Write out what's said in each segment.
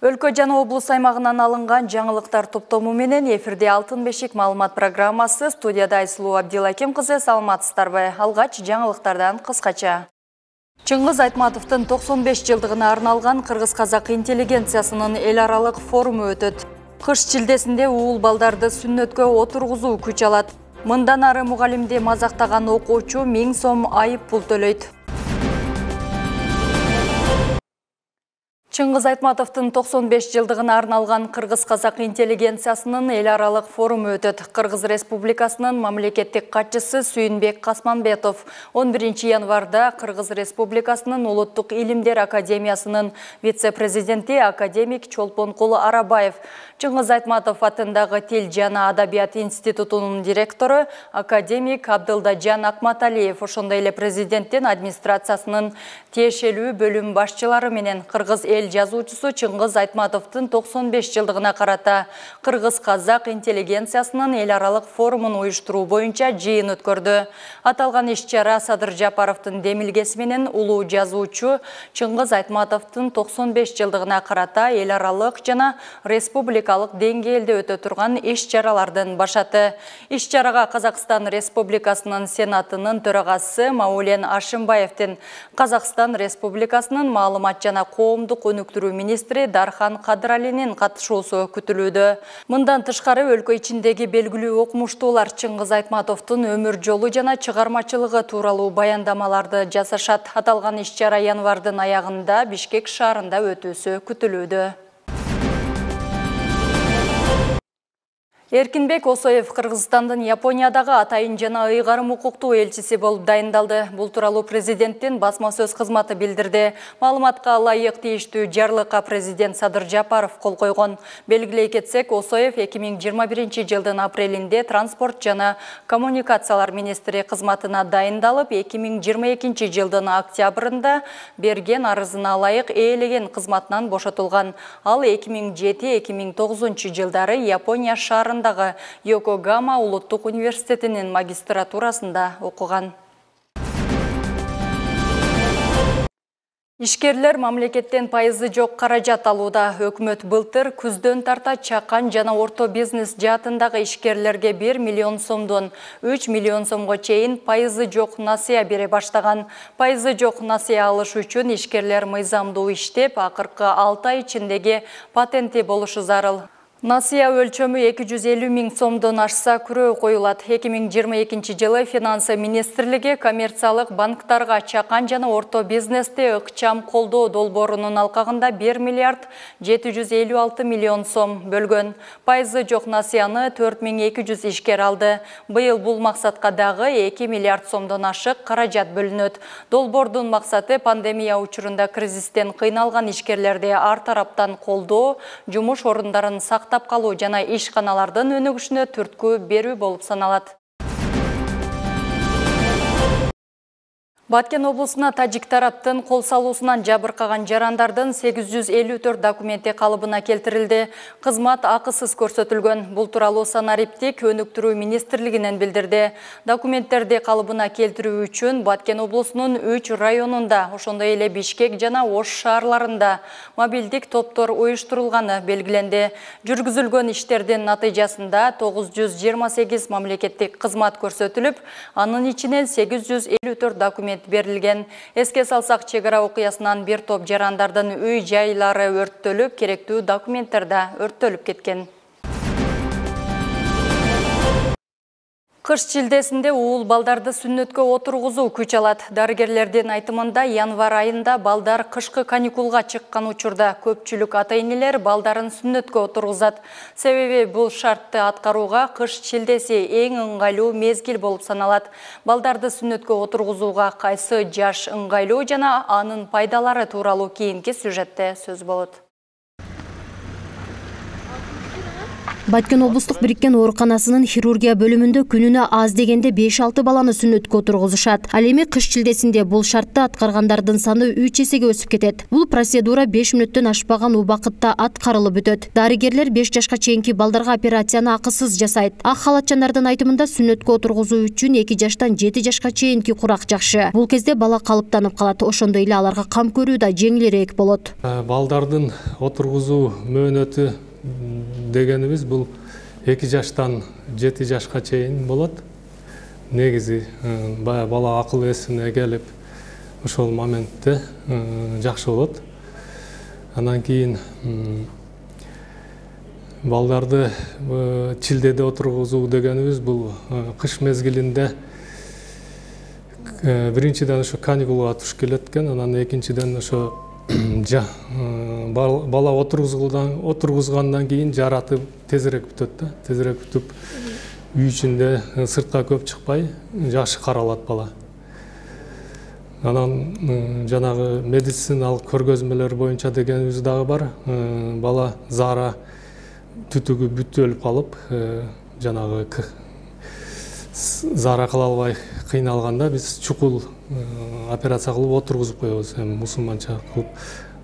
Өлкө жана облус аймагынан алынган жаңылыктар топтому менен эфирде Алтын бешик маалымат программасы. Студияда Айсулуу Абдилаким кызы, саламатсыздарбы? Алгач жаңылыктардан кыскача. Чыңгыз Айтматовдун 95 жылдыгына арналган кыргыз-казак интеллигенциясынын эл аралык форуму өтөт. Кыш шилдесинде уул балдарды сүннөткө отургузуу күч алат. Мындан ары мугалимди мазактаган окуучу 1000 сом айып пул төлөйт. Чыңгыз Айтматовдун 95 жылдыгына арналган кыргыз-казак интеллигенциясынын эл аралык форуму өтөт. Кыргыз Республикасынын мамлекеттик катчысы Сүйүнбек Касманбетов 11 январда Кыргыз Республикасынын Улуттук илимдер академиясынын вице-президенти академик Чолпонкул Арабаев, Чыңгыз Айтматов атындагы Тил жана Адабият институтунун директору академик Абдылдажан Акматалиев, ошондой эле президенттин администрациясынын тиешелүү бөлүм башчылары менен кыргыз эл жазуучусу Чыңгыз Айтматовдун 95 жылдыгына карата кыргыз-казак интеллигенциясынын эл аралык форумун уюштуруу боюнча жыйын өткөрдү. Аталган иш-чара Садыр Жапаровдун демилгеси менен улуу жазуучу Чыңгыз Айтматовдун 95 жылдыгына карата эл аралык жана республикалык деңгээлде өтө турган иш-чаралардын башаты. Иш-чарага Казакстан Республикасынын Сенатынын төрагасы Маулен Ашимбаевдин, Казакстан Республикасынын маалымат жана коомдук өнүктүрүү министри Дархан Кадыралинин катышуусу күтүлүүдө. Мындан тышкары өлкө ичиндеги белгилүү окумуштуулар Чыңгыз Айтматовдун өмүр жолу жана чыгармачылыгы тууралуу баяндамаларды жасашат. Аталган иш-чара январдын аягында Бишкек шаарында өтүүсү күтүлүүдө. Эркинбек Осоев Кыргызстандын Япониядагы атайын жана ыйгарым укуктуу элчиси болуп дайындалды. Бул тууралуу президенттин басма сөз кызматы билдирди. Маалыматка ылайык тийиштүү жарлыкка президент Садыр Жапаров кол койгон. Белгилей кетсек, Осоев 2021 жылдын апрелинде транспорт жана коммуникациялар министри кызматына дайындалып, 2022 жылдын октябрында берген арызына ылайык ээлеген кызматынан бошотулган. Ал 2007-2009 жылдары Япония шаарында Йокогама улуттук университетинин магистратурасында окуган. Ишкерлер мамлекеттен пайызы жок каражат алууда. Өкмөт былтыр күздөн тарта чакан жана орто бизнес жаатындагы ишкерлерге 1 миллион сомдон 3 миллион сомго чейин пайызы жок насыя бере баштаган. Пайызы жок насыя алыш үчүн ишкерлер мыйзамдуу иштеп, акыркы 6 ай ичиндеги патенти болушу зарыл. Насыя өлчөмү 250 000 сомдон ашса күрөө коюлат. 2022 жылы Финансы министрлиги коммерциялык банктарга чакан жана орто бизнесте ыкчам колдоо долбоорунун алкагында 1 миллиард 756 миллион сом бөлгөн. Пайызы жок насыяны 4200 ишкер алды. Быйыл бул максатка дагы 2 миллиард сомдон ашык каражат бөлүнөт. Долбоордун максаты пандемия учурунда кризистен кыйналган ишкерлерди ар тараптан колдоо, жумуш орундарын сактап калуу жана ишканалардын өнүгүшүнө түрткү берүү болуп саналат. Баткен облусуна тажик тараптын кол салуусунан жабыркаган жарандардын 854 документи калыбына келтирилди. Кызмат акысыз көрсөтүлгөн. Бул тууралуу санариптик өнүктүрүү министрлигинен билдирди. Документтерди калыбына келтирүү үчүн Баткен облусунун 3 районунда, ошондой эле Бишкек жана Ош шаарларында мобилдик топтор уюштурулганы белгиленди. Жүргүзүлгөн иштердин натыйжасында 928 мамлекеттик кызмат көрсөтүлүп, анын ичинен 854 документ берилген. Эске салсак, чек ара окуясынан бир топ жарандардын үй-жайлары өрттөлүп, керектүү документтер да өрттөлүп кеткен. Кыш шилдесинде уул балдарды сүннөткө отургузуу күч алат. Дарыгерлердин айтымында январ айында балдар кышкы каникулга чыккан учурда көпчүлүк ата-энелер балдарын сүннөткө отургузат. Себеби бул шартты аткарууга кыш шилдеси эң ыңгайлуу мезгил болуп саналат. Балдарды сүннөткө отургузууга кайсы жаш ыңгайлуу жана анын пайдалары тууралуу кийинки сюжетте сөз болот. Баткен облустук бириккен ооруканасынын хирургия бөлүмүндө күнүнө аз дегенде 5-6 баланы сүннөткө отургузушат. Ал эми кыш шилдесинде бул шартты аткаргандардын саны 3 эсеге өсүп кетет. Бул процедура 5 мүнөттөн ашпаган убакытта аткарылып өтөт. Дарыгерлер 5 жашка чейинки балдарга операцияны акысыз жасайт. Ак халатчандардын айтымында сүннөткө отургузуу үчүн 2 жаштан 7 жашка чейинки курак жакшы. Бул кезде бала калыптанып калат, ошондой эле аларга кам көрүү да жеңилирээк болот. Балдардын отургузуу мөөнөтү дегенибиз бул 2 жаштан 7 жашка чейин болот. Негизи бала акыл эсине келип ошол моментте жакшы болот. Андан кийин балдарды чилдеде отургузуу дегенибиз бул кыш мезгилинде биринчиден ошо каникулга туш келет экен, анан экинчиден ошо бала отургузгандан кийин жараты тезирээк бүтөт да, тезирээк бүтүп үй ичинде сыртка көп чыкпай жакшы каралат бала. Анан жанагы медициналык көргөзмөлөр боюнча дегенибиз дагы бар. Бала заара түтүгү бүтөлүп калып, жанагы заара кыла албай кыйналганда биз чукул операция кылып отургузуп коебуз, мусулманча кылып.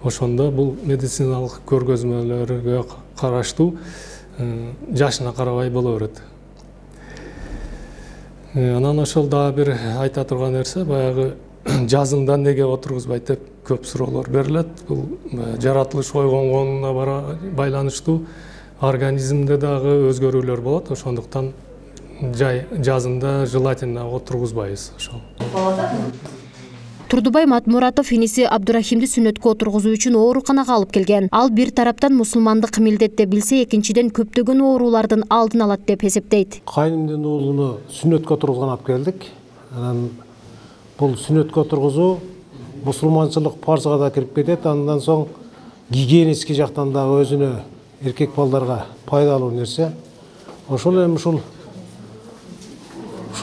Ошондо бул медициналык көргөзмөлөргө караштуу жашына карабай боло берет. Анан ошол дагы бир айта турган нерсе, баягы жазында неге отургузбайт деп көп суроолор берилет. Бул жаратылыш койгонуна байланыштуу организмде дагы өзгөрүүлөр болот. Ошондуктан жазында желательно отургузбайбыз ошол. Турдубай Матмуратов иниси Абдурахимди сүннөткө отургузуу үчүн ооруканага алып келген. Ал бир тараптан мусулмандык милдет деп билсе, экинчиден көптөгөн оорулардын алдын алат деп эсептейт. Кайнымдын уулуну сүннөткө отургузган алып келдик. Анан бул сүннөткө отургузуу мусулманчылык парзга да кирип кетет. Андан соң гигиенический жактан дагы өзүнө эркек балдарга пайдалуу нерсе. Ошол эми ушул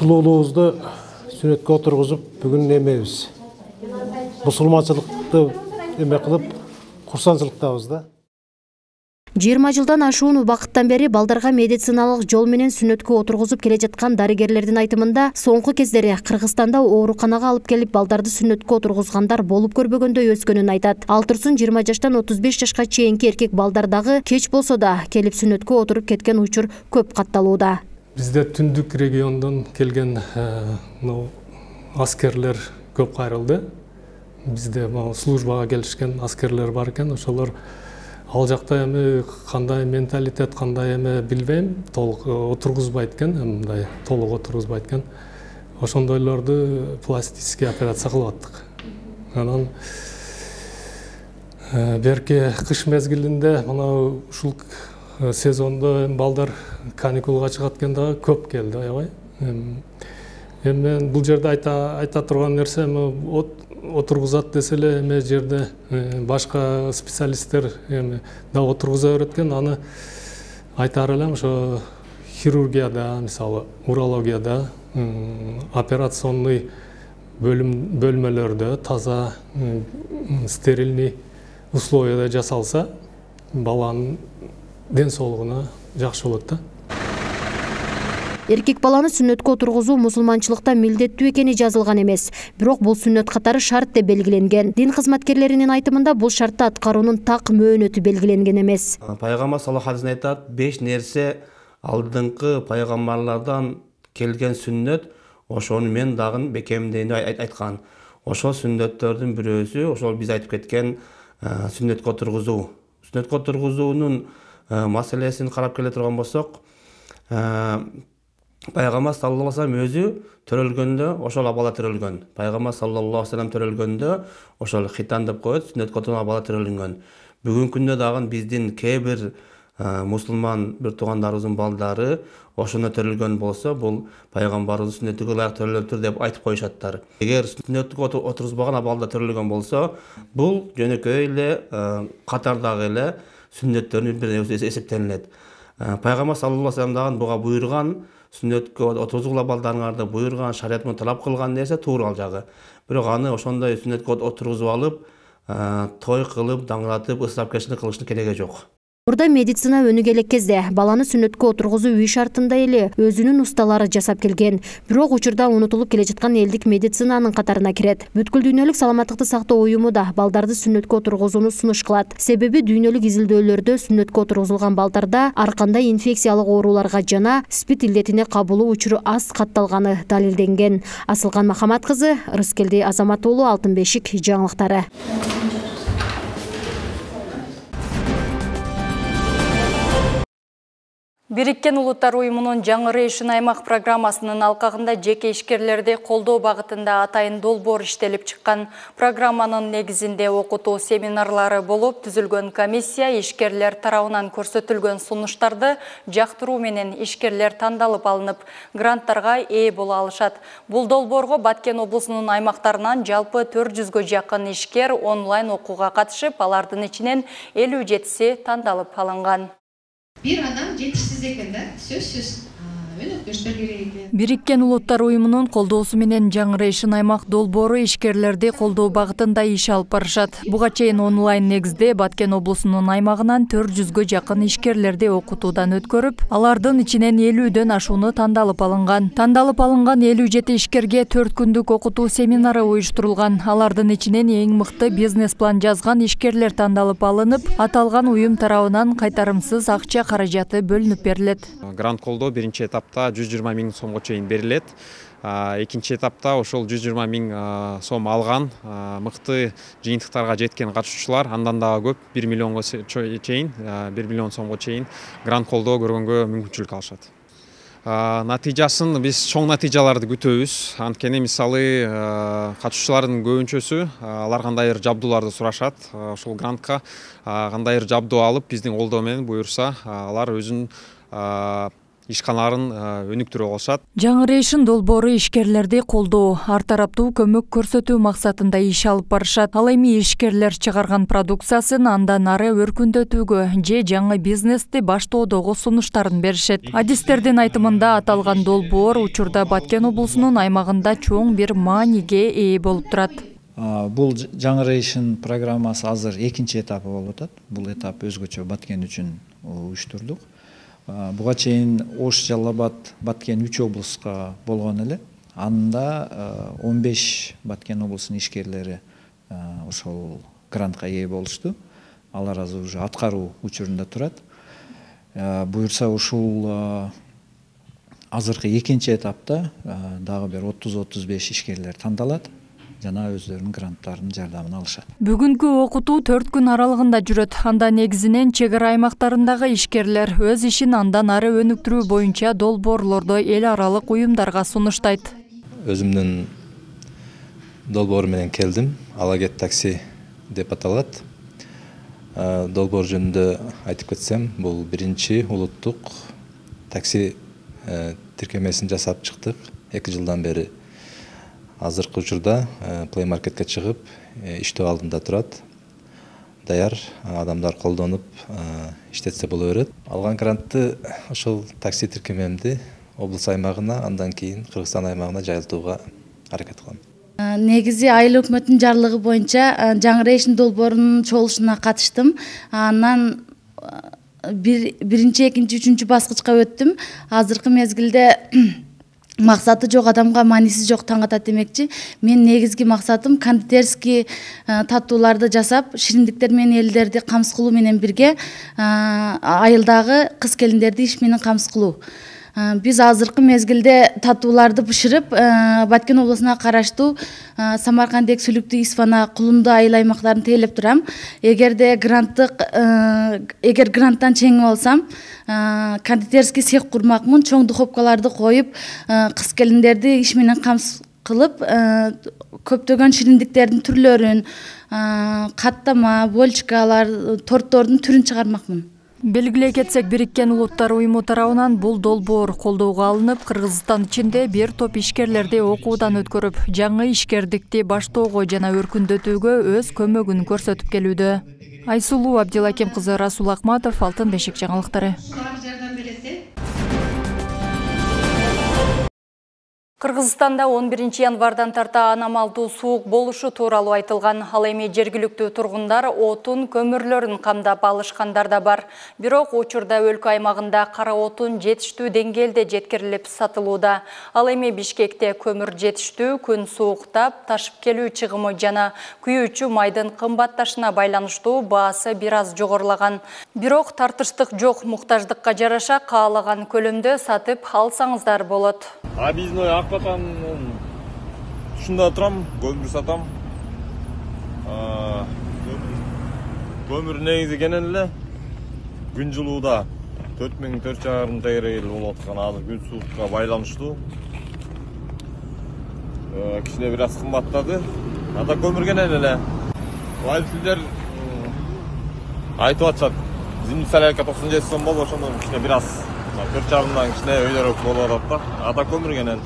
уулубузду сүннөткө отургузуп бүгүн эмебиз. Мусулманчылыкты эме кылып, курсанчылыктабыз да. 20 жылдан ашуун убакыттан бери балдарга медициналык жол менен сүннөткө отургузуп келе жаткан дарыгерлердин айтымында, соңку кездери Кыргызстанда ооруканага алып келип балдарды сүннөткө отургузгандар болуп көрбөгөндөй өскөнүн айтат. Ал турсун 20 жаштан 35 жашка чейинки эркек балдар дагы кеч болсо да келип сүннөткө отуруп кеткен учур көп катталууда. Бизде түндүк региондон келген аскерлер көп кайрылды. Бизде службага келишкен аскерлер бар экен, ошолор ал жакта эми кандай менталитет, кандай эме билбейм, толук отургузбайт экен, мындай толук отургузбайт экен. Ошондойлорду пластический операция кылып аттык. Анан берки кыш мезгилинде мына ушул сезондо балдар каникулга чыгат экен дагы көп келди, аябай. Мен бул жерде айта турган нерсе, отургузат десе эле эме жерде башка специалисттер да отургуза берет экен. Аны айтаар элем, ошо хирургияда, мисалы урологияда, операционный бөлмөлөрдө таза, стерильный условияда жасалса, баланын ден соолугуна жакшы болот да. Эркек баланы сүннөткө отургузуу мусулманчылыкта милдеттүү экени жазылган эмес. Бирок бул сүннөт катары шарт деп белгиленген. Дин кызматкерлеринин айтымында бул шартты аткаруунун так мөөнөтү белгиленген эмес. Пайгамбар саллаллаху алейхи вассалам айтат, 5 нерсе алдыңкы пайгамбарлардан келген сүннөт, ошону мен дагы бекемдейин деп айткан. Ошол сүннөттөрдүн бирөөсү ошол биз айтып кеткен сүннөткө отургузуу. Сүннөткө отургузуунун маселесин карап келе турган болсок, Пайгамбар саллаллаху алейхи вассалам өзү төрөлгөндө ошол абала төрөлгөн. Пайгамбар саллаллаху алейхи вассалам төрөлгөндө ошол хитан деп коет, сүннөткө отурган абала төрөлгөн. Бүгүнкү күндө дагы биздин кээ бир мусулман бир туугандарыбыздын балдары ошондо төрөлгөн болсо, бул пайгамбарыбыз сүннөтүгө ылайык төрөлөптүр деп айтып коюшаттар. Эгер сүннөткө отургузбаган абалда төрөлгөн болсо, бул жөнөкөй эле катардагы эле сүннөттөрдүн бири эсептелинет. Пайгамбар саллаллаху алейхи вассалам дагы буга буйрган, сүннөткө отургузгула балдарыңарды буйрган, шарият менен талап кылган нерсе туура ал жагы. Бирок аны ошондой сүннөткө отургузуп алып, той кылып, даңгыратып, ысырапкерчилик кылыштын кереги жок. Орда медицина өнүгө элек кезде баланы сүннөткө отургузуу үй шартында эле өзүнүн усталары жасап келген. Бирок учурда унутулуп келе жаткан элдик медицинанын катарына кирет. Бүткүл дүйнөлүк саламаттыкты сактоо уюму да балдарды сүннөткө отургузууну сунуш кылат. Себеби дүйнөлүк изилдөөлөрдө сүннөткө отургузулган балдарда ар кандай инфекциялык ооруларга жана спид илдетине кабылуу учуру аз катталганы далилденген. Асылган Махамат кызы, Рыскелди Азамат уулу, Алтын бешик жаңылыктары. Бириккен Улуттар уюмунун Жаңырышын аймак программасынын алкагында жеке ишкерлерди колдоо багытында атайын долбоор иштелип чыккан. Программанын негизинде окутуу семинарлары болуп, түзүлгөн комиссия ишкерлер тарабынан көрсөтүлгөн сунуштарды жактыруу менен ишкерлер тандалып алынып, гранттарга ээ боло алышат. Бул долбоорго Баткен облусунун аймактарынан жалпы 400гө жакын ишкер онлайн окууга катышып, алардын ичинен 57си тандалып алынган. Bir adam жетишсиз экен да, сөзсүз. Өнөктөштөр керек экен. Бириккен Улуттар уюмунун колдоосу менен Жаңырышын аймак долбоору ишкерлерди колдоо багытында иш алып барышат. Буга чейин онлайн негизде Баткен облусунун аймагынан 400гө жакын ишкерлерди окутуудан өткөрүп, алардын ичинен 50дөн ашууну тандалып алынган. Тандалып алынган 57 ишкерге 4 күндүк окутуу семинары уюштурулган. Алардын ичинен эң мыкты бизнес план жазган ишкерлер тандалып алынып, аталган уюм тарабынан кайтарымсыз акча каражаты бөлүнүп берилет. Грант колдоо биринчи этапта 120 000 сомго чейин берилет. Экинчи этапта ошол 120 000 сом алган мыкты жыйынтыктарга жеткен катышуучулар андан дагы көп 1 миллионго чейин, 1 миллион сомго чейин грант колдоо көргөнгө мүмкүнчүлүк алышат. Натыйжасын биз чоң натыйжаларды күтөбүз. Анткени мисалы катышуучулардын көбүнчөсү алар кандайдыр жабдууларды сурашат. Ошол грантка кандайдыр жабдуу алып, биздин колдоо менен буюрса, алар өзүнүн ишканаларын өнүктүрө алышат. Жаңырышын долбоору ишкерлерди колдоо, ар тараптуу көмөк көрсөтүү максатында иш алып барышат. Ал эми ишкерлер чыгарган продукциясын андан ары өркүндөтүүгө же жаңы бизнести баштоодогу сунуштарын беришет. Адистердин айтымында аталган долбоор учурда Баткен облусунун аймагында чоң бир мааниге ээ болуп турат. Бул Жаңырышын программасы азыр экинчи этапы болуп атат. Бул этап өзгөчө Баткен үчүн уюштурдук. Буга чейин Ош, Жалал Абад, Баткен 3 облуска болгон эле. Анда 15 Баткен облусунун ишкерлери ошол грантка ээ болушту. Алар азыр уже аткаруу учурунда турат. Буюрса ушул азыркы экинчи этапта дагы бир 30-35 ишкерлер тандалат жана өздөрүнүн гранттарынын жардамын алышат. Бүгүнкү окутуу 4 күн аралыгында жүрөт. Анда негизинен чек ара аймактарындагы ишкерлер өз ишин андан ары өнүктүрүү боюнча долбоорлорду эл аралык уюмдарга сунуштайт. Өзүмдүн долбоор менен келдим. Алагет такси деп аталат. Долбоор жөнүндө айтып кетсем, бул биринчи улуттук такси тиркемесин жасап чыктык 2 жылдан бери. Азыркы учурда Play Marketке чыгып, иштөө алдында турат. Даяр адамдар колдонуп иштетсе боло берет. Алган грантты ошол такси тиркемемди облус аймагына, андан кийин Кыргызстан аймагына жайылтууга аракет кылам. Негизи айыл өкмөттүн жарлыгы боюнча Жаңырышын долбоорунун чогулушуна катыштым. Анан биринчи, экинчи, үчүнчү баскычка өттүм. Азыркы мезгилде максаты жок адамга мааниси жок таң атат демекчи. Мен негизги максатым кондитерский таттууларды жасап, шириндиктер менен элдерди камсыз кылуу менен бирге айылдагы кыз келиндерди иш менен камсыз кылуу. Биз азыркы мезгилде таттууларды бышырып, Баткен облусуна караштуу Самаркандек, Сүлүктүү, Исфана, Кулунду айыл аймактарын тейлеп турам. Эгер гранттан чеңип алсам, кондитерский цех курмакмын, чоң духовкаларды коюп, кыз келиндерди иш менен камсыз кылып, көптөгөн шириндиктердин түрлөрүн, каттама, больчкалар, торттордун түрүн чыгармакмын. Белгилей кетсек, Бириккен Улуттар уюму тарабынан бул долбоор колдоого алынып, Кыргызстан ичинде бир топ ишкерлерди окуудан өткөрүп, жаңы ишкердикти баштоого жана өркүндөтүүгө өз көмөгүн көрсөтүп келүүдө. Айсулуу Абдилаким кызы, Расул Акматов, Алтын бешик жаңылыктары. Кыргызстанда 11 январдан тарта аномалдуу суук болушу тууралуу айтылган. Ал эми жергиликтүү тургундар отун көмүрлөрүн камдап алышкандар да бар. Бирок учурда өлкө аймагында кара отун жетиштүү деңгээлде жеткирилип сатылууда. Ал эми Бишкекте көмүр жетиштүү, күн сууктап, ташып келүү чыгымы жана күйүүчү майдын кымбатташына байланыштуу баасы бир аз жогорулаган. Бирок тартыштык жок, муктаждыкка жараша каалаган көлөмдө сатып алсаңыздар болот. Объездной Акбатан ушунда турам, көмүр сатам. Көмүр негизи кенен эле күн жылууда 4400 тегерел болуп аткан. Азыр күн суукка байланыштуу. Кичине бир аз кымбаттады. Ата көмүр кенен эле. Водительдер айтып атышат. Зимний солярка 97 сом болуп, ошондон кичине бир аз 4,5-дан кичине өйдөрөөк болуп атат да. Ата көмүр кенен.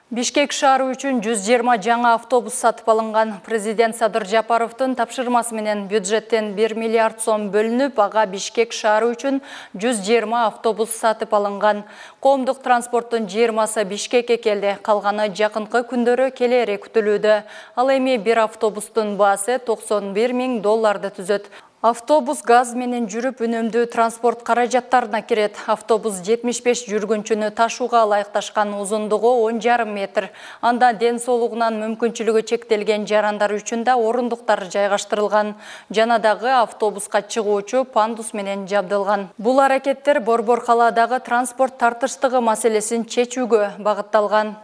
Бишкек шаары үчүн 120 жаңа автобус сатып алынган. Президент Садыр Жапаровдун тапшырмасы менен бюджеттен 1 миллиард сом бөлүнүп, ага Бишкек шаары үчүн 120 автобус сатып алынган. Коомдук транспорттун 20-сы Бишкекке келди, калганы жакынкы күндөрү келери күтүлүүдө. Ал эми бир автобустун баасы $91 000 түзөт. Автобус газ менен жүрүп үнөмдүү транспорт каражаттарына кирет. Автобус 75 жүргүнчүнү ташууга ылайыкташкан, узундугу 10,5 метр. Анда ден соолугунан мүмкүнчүлүгү чектелген жарандар үчүн да орундуктар жайгаштырылган. Жана дагы автобуска чыгуучу пандус менен жабдылган. Бул аракеттер Борбор калаадагы транспорт тартыштыгы маселесин чечүүгө багытталган.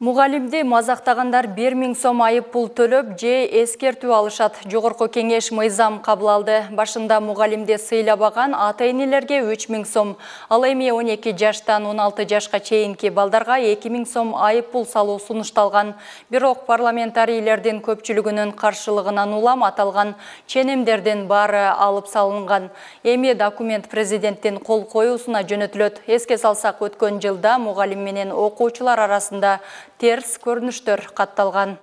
Мугалимди мазактагандар 1000 сом айып пул төлөп же эскертүү алышат. Жогорку кеңеш мыйзам кабыл алды. Башында мугалимди сыйлабаган ата-энелерге 3000 сом, ал эми 12 жаштан 16 жашка чейинки балдарга 2000 сом айып пул салуу сунушталган. Бирок парламентарийлердин көпчүлүгүнүн каршылыгынан улам аталган ченемдердин баары алып салынган. Эми документ президенттин кол коюусуна жөнөтүлөт. Эске салсак, өткөн жылда мугалим менен окуучулар арасында терс көрүнүштөр катталган.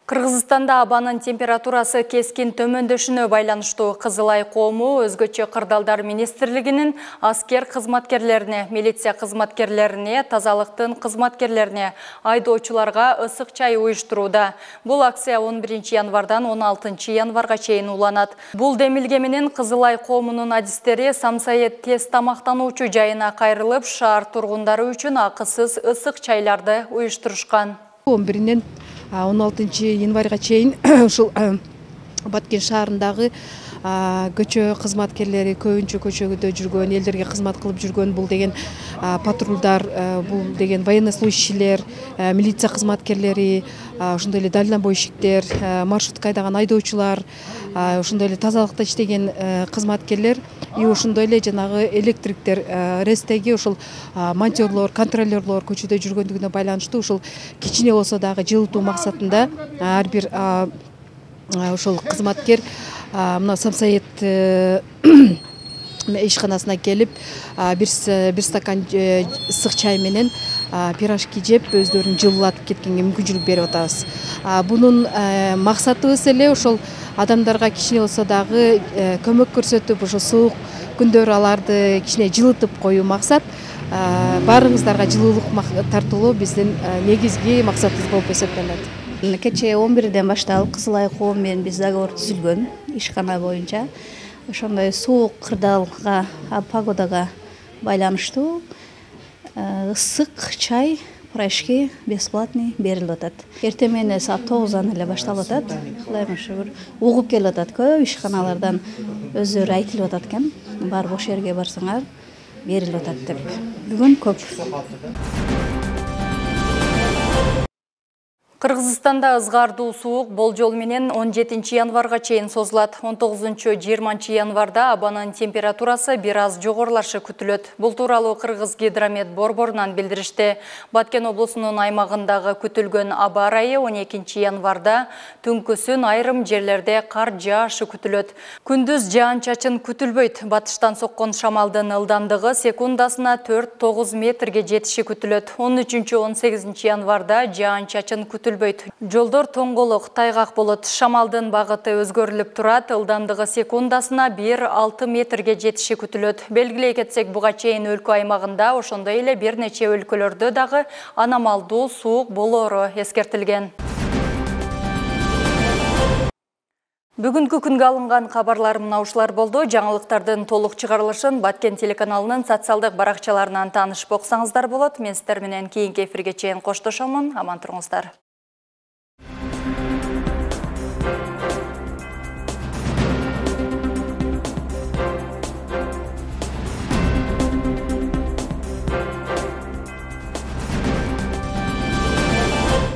Кыргызстанда абанын температурасы кескин төмөндөшүнө байланыштуу. Кызыл Ай коому өзгөчө кырдаалдар министрлигинин аскер кызматкерлерине, милиция кызматкерлерине, тазалыктын кызматкерлерине, айдоочуларга ысык чай уюштурууда. Бул акция 11 январдан 16 январга чейин уланат. Бул демилге менен Кызыл Ай коомунун адистери Самсайет тез тамактануучу жайына кайрылып, шаар тургундары үчүн акысыз ысык чайларды уюштурушкан. 11-ден 16 январга чейин ушул Баткен шаарындагы көчө кызматкерлери көбүнчө көчөгөдө жүргөн, элдерге кызмат кылып жүргөн, бул деген патрулдар, бул деген военнослужащийлер, милиция кызматкерлери, ошондой эле дальнобойщиктер, маршрутка айдаган айдоочулар, ошондой эле тазалыкта иштеген кызматкерлер, и ошондой эле жанагы электриктер, рестеги ошол монтерлор, контролерлор көчөдө жүргөндүгүнө байланыштуу ушул кичине болсо дагы жылытуу максатында ар бир ошол кызматкер мына Самсайет ишканасына келип бир стакан ысык чай менен пирожки жеп өздөрүн жылылатып кеткенге мүмкүнчүлүк берип атабыз. Бунун максатыбыз эле ошол адамдарга кичине болсо дагы көмөк көрсөтүп, ошо суук күндөр аларды кичине жылытып коюу максат. Баарыңыздарга жылуулук тартуулоо биздин негизги максатыбыз болуп эсептелет. Кече 11-ден башталып Кызыл Ай коому менен биз договор түзүлгөн ишкана боюнча. Ошондой суук кырдаалга, погодага байланыштуу ысык чай, пирожки бесплатный берилип атат. Эртең менен саат 9-дан эле башталып атат. Кылайм ушу бир угуп келип атат, көп ишканалардан өздөрү айтылып атат экен. Бар бош жерге барсаңар берилип атат деп. Бүгүн көп. Кыргызстанда ызгардуу суук болжол менен 17 январга чейин созулат. 19-20 январда абанын температурасы бир аз жогорулашы күтүлөт. Бул тууралуу Кыргыз гидромет борборунан билдиришти. Баткен облусунун аймагындагы күтүлгөн аба ырайы 12 январда түнкүсүн айрым жерлерде кар жаашы күтүлөт. Күндүз жаан-чачын күтүлбөйт. Батыштан соккон шамалдын ылдамдыгы секундасына 4-9 метрге жетиши күтүлөт. 13-18 январда жаан-чачын күтүлөт. күтүлбөйт. Жолдор тоңголук, тайгак болот. Шамалдын багыты өзгөрүлүп турат. Ылдамдыгы секундасына 1-6 метрге жетиши күтүлөт. Белгилей кетсек, буга чейин өлкө аймагында, ошондой эле бир нече өлкөлөрдө дагы аномалдуу суук болоору эскертилген. Бүгүнкү күнгө алынган кабарлар мына ушулар болду. Жаңылыктардын толук чыгарылышын Баткен телеканалынын социалдык баракчаларынан таанышып оксаңыздар болот. Мен сиздер менен кийинки эфирге чейин коштошомун. Аман туруңуздар.